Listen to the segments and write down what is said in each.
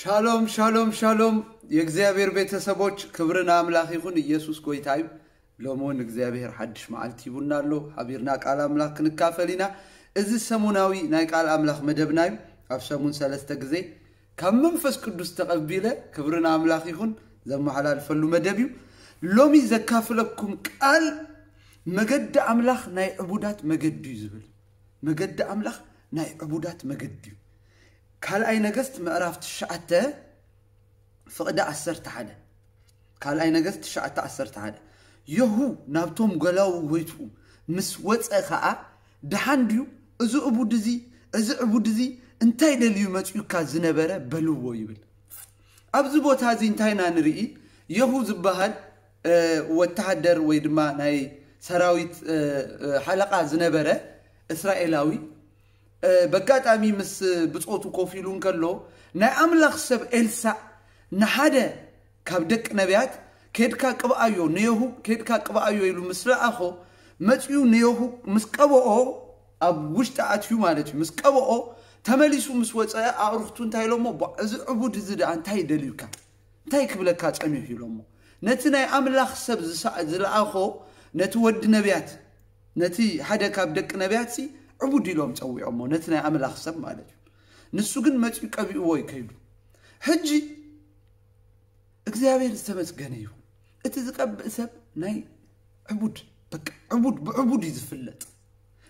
ሻሎም ሻሎም ሻሎም፣ የእግዚኣብሔር ቤተሰቦች፣ ክብሪ ንኣምላኽ ይኹን። ኢየሱስ ጎይታ እዩ። ሎሚ እውን እግዚኣብሔር ሓድሽ መዓልቲ ሂቡና ኣሎ። ሓቢርና ቃል ኣምላኽ ክንካፈል ኢና። እዚ ሰሙናዊ ናይ ቃል ኣምላኽ መደብና እዩ። ኣብ ሰሙን ሰለስተ ግዜ ካብ መንፈስ ቅዱስ ተቐቢለ፣ ክብሪ ንኣምላኽ ይኹን፣ ዘመሓላልፈሉ መደብ እዩ። ሎሚ ዘካፍለኩም ቃል መገዲ ኣምላኽ ናይ ዕቡዳት መገዲ እዩ ዝብል። መገዲ ኣምላኽ ናይ ዕቡዳት መገዲ እዩ። ካልኣይ ነገስት ምዕራፍ ትሽዓተ ፍቕዲ ዓሰርተ ሓደ። ካልኣይ ነገስት ትሽዓተ ዓሰርተ ሓደ። የሁ ናብቶም ገላዉ ጎይትኡ ምስ ወፀ ኸዓ፣ ደሓን ድዩ እዚ ዕቡድ እዚ፣ እዚ ዕቡድ እዚ እንታይ ደልዩ መፅኡካ ዝነበረ በልዎ ይብል። ኣብዚ ቦታ እዚ እንታይ ኢና ንርኢ? የሁ ዝበሃል ወተሃደር ወይ ድማ ናይ ሰራዊት ሓለቓ ዝነበረ እስራኤላዊ፣ በጋጣሚ ምስ ብጾቱ ኮፍ ኢሉ እንከሎ፣ ናይ ኣምላኽ ሰብ ኤልሳዕ ንሓደ ካብ ደቂ ነቢያት፣ "ኬድካ ቅብኣዮ፣ ንየሁ ኬድካ ቅብኣዮ" ኢሉ ምስ ለኣኾ፣ መጺኡ ንየሁ ምስ ቀብኦ፣ ኣብ ውሽጢ ኣትዩ ማለት እዩ፣ ምስ ቀብኦ፣ ተመሊሱ ምስ ወጸ፣ ኣዕሩኽቱ እንታይ ኢሎሞ? "ቧ፣ እዚ ዕቡድ እዚ ደኣ እንታይ ደልዩካ? እንታይ ክብለካ ጸኒሑ?" ኢሎሞ። ነቲ ናይ ኣምላኽ ሰብ ዝሳ-፣ ዝለኣኾ፣ ነቲ ወዲ ነቢያት፣ ነቲ ሓደ ካብ ደቂ ነቢያትሲ ዕቡድ ኢሎም ጸዊዖሞ፣ ነቲ ናይ ኣምላኽ ሰብ ማለት እዩ። ንሱ ግን መጺኡ ቀቢእዎ እዩ ከይዱ። ሕጂ እግዚኣብሔር ዝተመስገነ ይኹን። እቲ ዝቀብእ ሰብ ናይ ዕቡድ፣ በቃ ዕቡድ፣ ብዕቡድ እዩ ዝፍለጥ።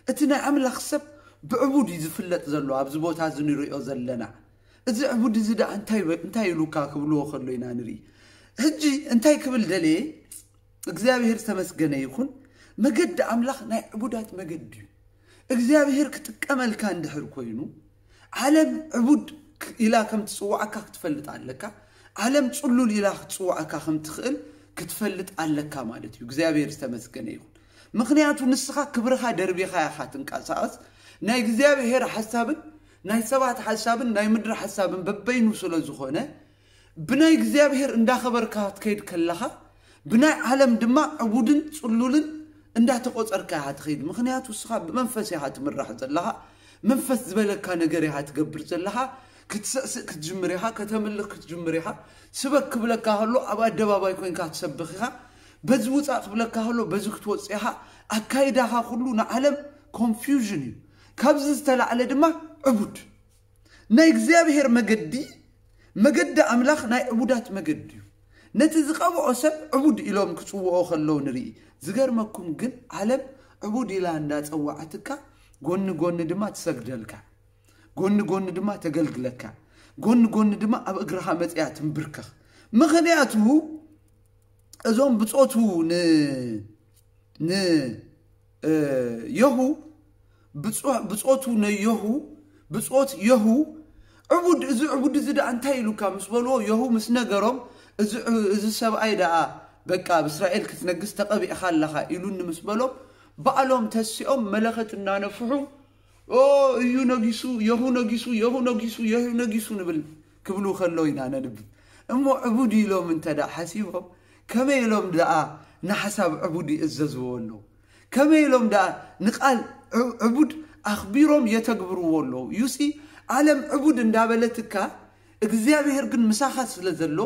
እቲ ናይ ኣምላኽ ሰብ ብዕቡድ እዩ ዝፍለጥ ዘሎ፣ ኣብዚ ቦታ እዚ ንሪኦ ዘለና። እዚ ዕቡድ እዚ ደኣ እንታይ በ-፣ እንታይ ኢሉካ ክብልዎ ከሎ ኢና ንርኢ። ሕጂ እንታይ ክብል ደልየ? እግዚኣብሔር ዝተመስገነ ይኹን። መገዲ ኣምላኽ ናይ ዕቡዳት መገዲ እዩ። እግዚኣብሔር ክጥቀመልካ እንድሕር ኮይኑ፣ ዓለም ዕቡድ ክ-፣ ኢላ ከም ትጽውዓካ ክትፈልጥ ኣለካ። ዓለም ጽሉል ኢላ ክትጽውዓካ ከም ትኽእል ክትፈልጥ ኣለካ ማለት እዩ። እግዚኣብሔር ዝተመስገነ ይኹን። ምኽንያቱ ንስኻ ክብርኻ ደርቢኻ ኢኻ ትንቀሳቐስ። ናይ እግዚኣብሔር ሓሳብን ናይ ሰባት ሓሳብን ናይ ምድሪ ሓሳብን በበይኑ ስለ ዝኾነ፣ ብናይ እግዚኣብሔር እንዳኸበርካ ክትከይድ ከለኻ፣ ብናይ ዓለም ድማ ዕቡድን ጽሉልን እንዳተቖጸርካ ኢኻ ትኸይድ። ምኽንያቱ ንስኻ ብመንፈስ ኢኻ ትምራሕ ዘለኻ። መንፈስ ዝበለካ ነገር ኢኻ ትገብር ዘለኻ። ክትስዕስዕ ክትጅምር ኢኻ፣ ከተምልኽ ክትጅምር ኢኻ። ስበክ ክብለካ ከሎ ኣብ ኣደባባይ ኮይንካ ትሰብኽ ኢኻ። በዚ ውጻእ ክብለካ ከሎ በዚ ክትወጽእ ኢኻ። ኣካይዳኻ ኩሉ ንዓለም ኮንፊውዥን እዩ። ካብዚ ዝተላዕለ ድማ ዕቡድ። ናይ እግዚኣብሔር መገዲ፣ መገዲ ኣምላኽ ናይ ዕቡዳት መገዲ እዩ። ነቲ ዝቐብኦ ሰብ ዕቡድ ኢሎም ክጽውኦ ከለዉ ንርኢ። ዝገርመኩም ግን ዓለም ዕቡድ ኢላ እንዳጸዋዓትካ፣ ጎኒ ጎኒ ድማ ትሰግደልካ፣ ጎኒ ጎኒ ድማ ተገልግለካ፣ ጎኒ ጎኒ ድማ ኣብ እግርኻ መጺኣ ትንብርከኽ። ምኽንያቱ እዞም ብጾቱ ን-፣ ን-፣ እ፣ የሁ፣ ብጾ-፣ ብጾቱ ነየሁ፣ ብጾት የሁ፣ ዕቡድ፣ እዚ ዕቡድ እዚ ደኣ እንታይ ኢሉካ ምስ በልዎ፣ የሁ ምስ ነገሮም፣ እዚ ዕ-፣ እዚ ሰብኣይ ደኣ በቃ ኣብ እስራኤል ክትነግስ ተቐቢእኻ ኣለኻ ኢሉኒ ምስ በሎም፣ ባዕሎም ተሲኦም መለኸት እናነፍሑ፣ "ኦ፣ እዩ ነጊሱ፣ የሁ ነጊሱ፣ የሁ ነጊሱ፣ የሁ ነጊሱ" ንብል ክብሉ ከለዉ ኢና ነንብብ። እሞ ዕቡድ ኢሎም እንተ ደኣ ሓሲቦም፣ ከመይ ኢሎም ደኣ ንሓሳብ ዕቡድ ይእዘዝዎ ኣለዉ? ከመይ ኢሎም ደኣ ንቓል ዕ-፣ ዕቡድ ኣኽቢሮም የተግብርዎ ኣለዉ? ዩሲ፣ ዓለም ዕቡድ እንዳበለትካ፣ እግዚኣብሔር ግን ምሳኻ ስለ ዘሎ፣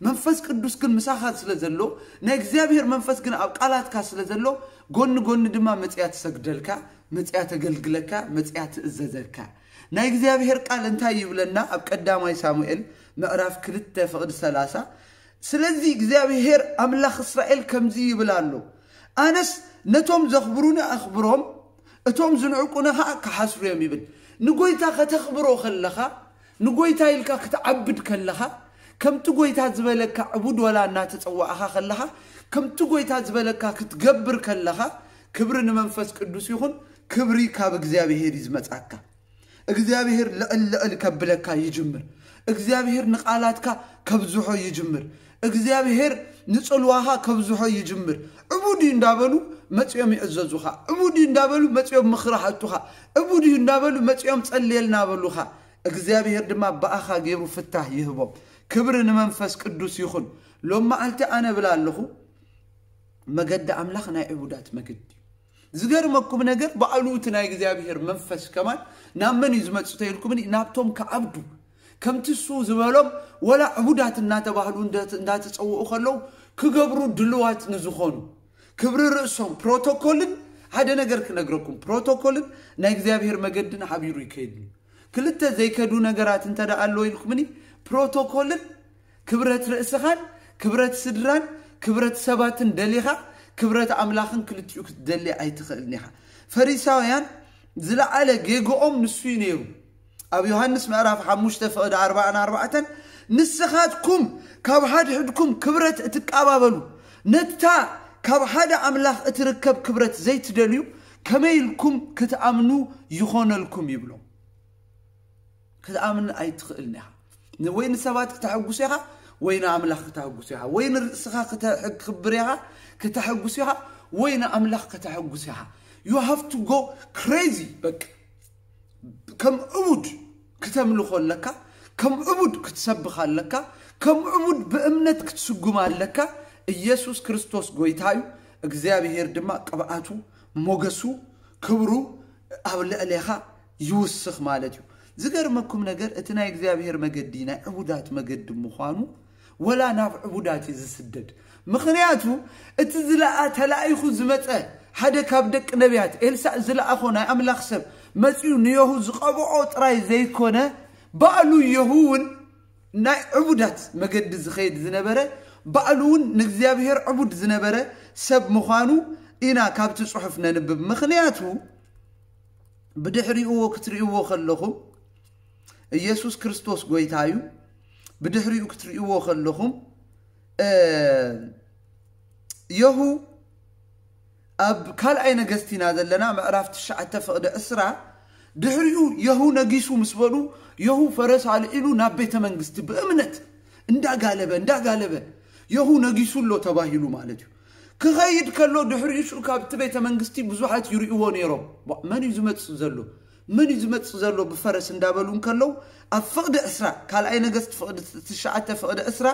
መንፈስ ቅዱስ ግን ምሳኻ ስለ ዘሎ፣ ናይ እግዚኣብሔር መንፈስ ግን ኣብ ቃላትካ ስለ ዘሎ፣ ጎኒ ጎኒ ድማ መጺኣ ትሰግደልካ፣ መጺኣ ተገልግለካ፣ መጺኣ ትእዘዘካ። ናይ እግዚኣብሔር ቃል እንታይ ይብለና? ኣብ ቀዳማይ ሳሙኤል ምዕራፍ ክልተ ፍቕዲ ሰላሳ፣ "ስለዚ እግዚኣብሔር ኣምላኽ እስራኤል ከምዚ ይብል ኣሎ፣ ኣነስ ነቶም ዘኽብሩኒ ኣኽብሮም፣ እቶም ዝንዕቁኒ ኸኣ ክሓስሩ እዮም" ይብል። ንጎይታ ከተኽብሮ ከለኻ፣ ንጎይታ ኢልካ ክትዓብድ ከለኻ፣ ከምቲ ጎይታ ዝበለካ ዕቡድ ወላ እናተጸዋዕኻ ከለኻ፣ ከምቲ ጎይታ ዝበለካ ክትገብር ከለኻ፣ ክብሪ ንመንፈስ ቅዱስ ይኹን፣ ክብሪ ካብ እግዚኣብሔር እዩ ዝመጻካ። እግዚኣብሔር ልዕል ልዕል ከብለካ ይጅምር። እግዚኣብሔር ንቓላትካ ከብዝሖ ይጅምር። እግዚኣብሔር ንጽልዋኻ ከብዝሖ ይጅምር። ዕቡድ እዩ እንዳበሉ መጺኦም ይእዘዙኻ። ዕቡድ እዩ እንዳበሉ መጺኦም ምኽሪ ይሃቱኻ። ዕቡድ እዩ እንዳበሉ መጺኦም ጸልየልና በሉኻ። እግዚኣብሔር ድማ ብኣኻ ገይሩ ፍታህ ይህቦም። ክብሪ ንመንፈስ ቅዱስ ይኹን። ሎም መዓልቲ ኣነ እብል ኣለኹ፣ መገዲ ኣምላኽ ናይ ዕቡዳት መገዲ እዩ። ዝገርመኩም ነገር፣ ባዕሉ እቲ ናይ እግዚኣብሔር መንፈስ ከማን ናብ መን እዩ ዝመጽእ ተይልኩምኒ? ናብቶም ክዓብዱ፣ ከምቲ እሱ ዝበሎም ወላ ዕቡዳት እናተባህሉ እንዳተፀውዑ ከለዉ ክገብሩ ድልዋት ንዝኾኑ ክብሪ ርእሶም ፕሮቶኮልን ሓደ ነገር ክነግረኩም ፕሮቶኮልን ናይ እግዚኣብሔር መገድን ሓቢሩ ይከይድ እዩ። ክልተ ዘይከዱ ነገራት እንተ ደኣ ኣሎ ኢልኩምኒ ፕሮቶኮልን ክብረት ርእስኻን ክብረት ስድራን ክብረት ሰባትን ደሊኻ ክብረት ኣምላኽን ክልቲኡ ክትደሊ ኣይትኽእልን ኢኻ። ፈሪሳውያን ዝለዓለ ጌግኦም ንሱ እዩ ነይሩ። ኣብ ዮሃንስ ምዕራፍ ሓሙሽተ ፍቕዲ ኣርባዓን ኣርባዕተን ንስኻትኩም ካብ ሓድሕድኩም ክብረት እትቃባበሉ ነታ ካብ ሓደ ኣምላኽ እትርከብ ክብረት ዘይትደልዩ ከመይ ኢልኩም ክትኣምኑ ይኾነልኩም ይብሎም። ክትኣምን ኣይትኽእልን ኢኻ። ወይ ንሰባት ክተሐጉስ ኢኻ ወይ ንኣምላኽ ክተሐጉስ ኢኻ ወይ ንርእስኻ ክተክብር ኢኻ ክተሐጉስ ኢኻ ወይ ንኣምላኽ ከተሐጉስ ኢኻ። You have to go crazy በቃ። ከም ዕቡድ ክተምልኾ ኣለካ። ከም ዕቡድ ክትሰብኽ ኣለካ። ከም ዕቡድ ብእምነት ክትስጉም ኣለካ። ኢየሱስ ክርስቶስ ጎይታ እዩ። እግዚኣብሔር ድማ ቅብኣቱ ሞገሱ ክብሩ ኣብ ልዕሌኻ ይውስኽ ማለት እዩ። ዝገርመኩም ነገር እቲ ናይ እግዚኣብሔር መገዲ ናይ ዕቡዳት መገዲ ምዃኑ ወላ ናብ ዕቡዳት እዩ ዝስደድ። ምኽንያቱ እቲ ዝለኣ ተላኢኹ ዝመፀ ሓደ ካብ ደቂ ነቢያት ኤልሳዕ ዝለኣኾ ናይ ኣምላኽ ሰብ መፂኡ ንየሁ ዝቐብዖ ጥራይ ዘይኮነ ባዕሉ የሁ እውን ናይ ዕቡዳት መገዲ ዝኸይድ ዝነበረ ባዕሉ እውን ንእግዚኣብሔር ዕቡድ ዝነበረ ሰብ ምዃኑ ኢና ካብቲ ጽሑፍ ነንብብ። ምኽንያቱ ብድሕሪኡ ክትርእይዎ ከለኹም ኢየሱስ ክርስቶስ ጎይታ እዩ። ብድሕሪኡ ክትርእይዎ ከለኹም የሁ ኣብ ካልኣይ ነገስት ኢና ዘለና ምዕራፍ ትሽዓተ ፍቕዲ ዕስራ ድሕሪኡ የሁ ነጊሱ ምስ በሉ የሁ ፈረስ ኣልዒሉ ናብ ቤተ መንግስቲ ብእምነት እንዳጋለበ እንዳጋለበ የሁ ነጊሱ ኣሎ ተባሂሉ ማለት እዩ። ክኸይድ ከሎ ድሕሪኡ ሽዑ ካብቲ ቤተ መንግስቲ ብዙሓት ይርእይዎ ነይሮም። መን እዩ ዝመፅእ ዘሎ? መን እዩ ዝመፅእ ዘሎ ብፈረስ እንዳበሉ እንከለዉ ኣብ ፍቕዲ ዕስራ ካልኣይ ነገስት ፍቕዲ ትሽዓተ ፍቕዲ ዕስራ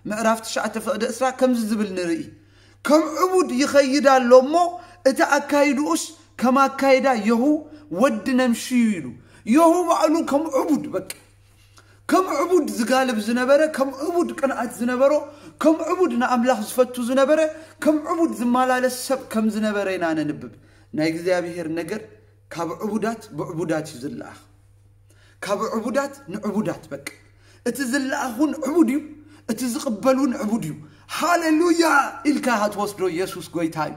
ምዕራፍ ትሽዓተ ፍቕዲ ዕስራ ከምዚ ዝብል ንርኢ። ከም ዕቡድ ይኸይድ ኣሎ እሞ እቲ ኣካይድኡስ ከም ኣካይዳ የሁ ወዲ ነምሽዩ ኢሉ የሁ ባዕሉ ከም ዕቡድ በቃ ከም ዕቡድ ዝጋልብ ዝነበረ ከም ዕቡድ ቅንኣት ዝነበሮ ከም ዕቡድ ንኣምላኽ ዝፈቱ ዝነበረ ከም ዕቡድ ዝመላለስ ሰብ ከም ዝነበረ ኢና ነንብብ። ናይ እግዚኣብሔር ነገር ካብ ዕቡዳት ብዕቡዳት እዩ ዝለኣኽ። ካብ ዕቡዳት ንዕቡዳት በቃ እቲ ዝለኣኽ እውን ዕቡድ እዩ። እቲ ዝቕበል እውን ዕቡድ እዩ። ሃሌሉያ ኢልካ ኢኻ ትወስዶ። ኢየሱስ ጎይታ እዩ።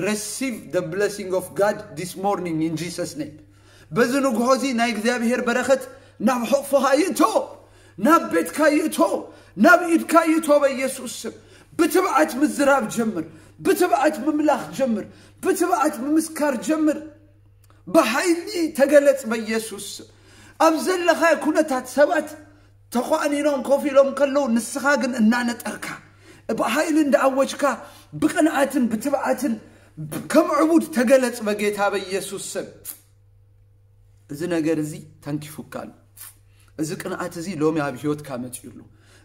Receive the blessing of God this morning in Jesus name። በዚ ንግሆ እዚ ናይ እግዚኣብሔር በረኸት ናብ ሕቕፎኻ ይእቶ፣ ናብ ቤትካ ይእቶ፣ ናብ ኢድካ ይእቶ በኢየሱስ ስም። ብትብዓት ምዝራብ ጀምር፣ ብትብዓት ምምላኽ ጀምር፣ ብትብዓት ምምስካር ጀምር። ብሓይሊ ተገለጽ በኢየሱስ ስም። ኣብ ዘለኻዮ ኩነታት ሰባት ተዃኒኖም ኮፍ ኢሎም ከለዉ ንስኻ ግን እናነጠርካ ብሓይሊ እንዳኣወጅካ ብቕንኣትን ብትብዓትን ከም ዕቡድ ተገለጽ በጌታ በኢየሱስ ስም። እዚ ነገር እዚ ተንኪፉካ ኣሎ። እዚ ቅንኣት እዚ ሎሚ ኣብ ህይወትካ መፅኡ ኣሎ።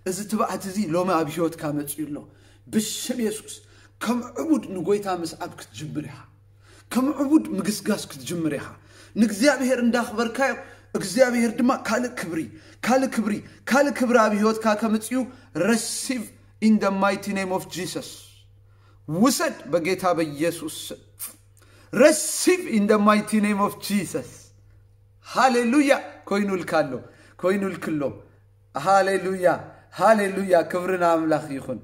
እዚ ትብዓት እዚ ሎሚ ኣብ ህይወትካ መፅኡ ኣሎ። ብስም የሱስ ከም ዕቡድ ንጎይታ ምስዓብ ክትጅምር ኢኻ። ከም ዕቡድ ምግስጋስ ክትጅምር ኢኻ። ንእግዚኣብሔር እንዳኽበርካዮ እግዚኣብሔር ድማ ካልእ ክብሪ ካልእ ክብሪ ካልእ ክብሪ ኣብ ህይወትካ ከምፅኡ receive in the mighty name of Jesus። ውሰድ በጌታ በኢየሱስ ስም። Receive in the mighty name of Jesus። ሃሌሉያ። ኮይኑልካ ኣሎ። ኮይኑልክሎ። ሃሌሉያ። ሃሌሉያ። ክብሪ ንኣምላኽ ይኹን።